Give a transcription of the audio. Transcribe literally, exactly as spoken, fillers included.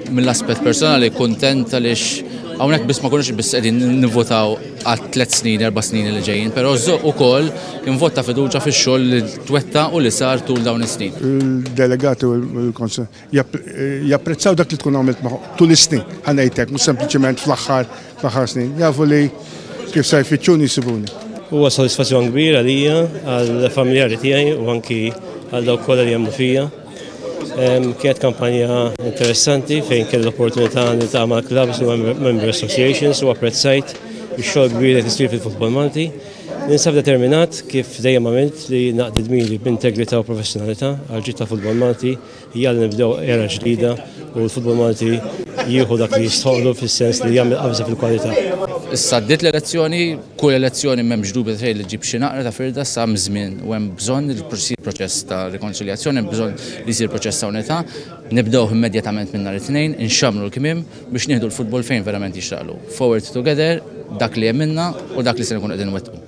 Mill-aspett personali kuntent għaliex hawnhekk biss ma konniex biss qegħdin nivvotaw għal tliet snin, erba' snin li ġejjin, però ukoll kien vot ta' fiduċja fix-xogħol li twettaq u li sar tul dawn is-snin. Il-delegati u l-konsol japprezzaw dak li tkun għamilt tul is-snin, ħa ngħidlek, mhux sempliċement fl-aħħar fl-aħħar snin. Jafu li kif sa jfittxuni jsibuni. Huwa sodisfazzjon kbir għalija, għall-familjari tiegħi u anki għal dawk kollha li jemmnu fija. Kienet kampanja interessanti fejn kelli l-opportunità niltaqa' mal-clubs u member associations u apprezzajt ix-xogħol kbir li tisir fil-futbol Malti. Ninsab determinat, kif dejjem għamilt, li naqdi dmiri b'integrità u professjonalità għal ġid ta' futbol Malti. Jalla nibdew era ġdida u l-futbol Malti jieħu dak li jistħoqqlu fis-sens li jagħmel qabża fil-kwalità. Issa għaddiet l-elezzjoni, kull elezzjoni m'hemmx dubju xejn li ġib xi naqra ta' firda sa żmien u hemm bżonn li jsir proċess ta' rikonċiljazzjoni, hemm bżonn li jsir proċess ta' unità. Nibdew immedjatament minn nhar it-Tnejn, inxamru l-kmiem biex nieħdu l-futbol fejn verament jixraqlu. Forward together, dak li hemm minna u dak li se nkunu qegħdin wettqu.